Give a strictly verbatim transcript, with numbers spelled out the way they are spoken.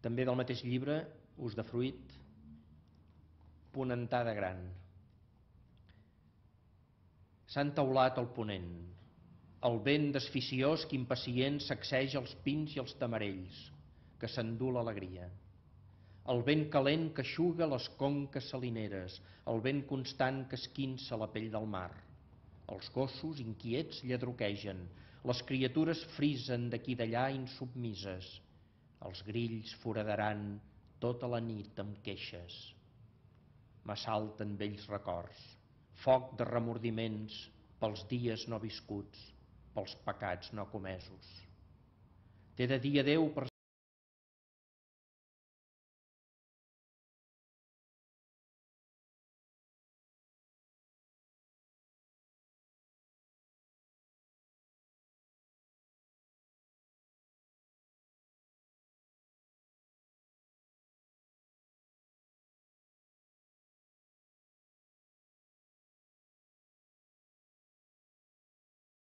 També del mateix llibre, Ús de fruit, Ponentada gran. S'ha entaulat el ponent, el vent desficiós que impacient sacseja els pins i els tamarells, que s'endú l'alegria. El vent calent que eixuga les conques salineres, el vent constant que esquinça la pell del mar. Els gossos inquiets lladruquegen, les criatures frisen d'aquí d'allà insubmises. Els grills foradaran tota la nit amb queixes. M'assalten vells records, foc de remordiments pels dies no viscuts, pels pecats no comesos. T'he de dir adeu per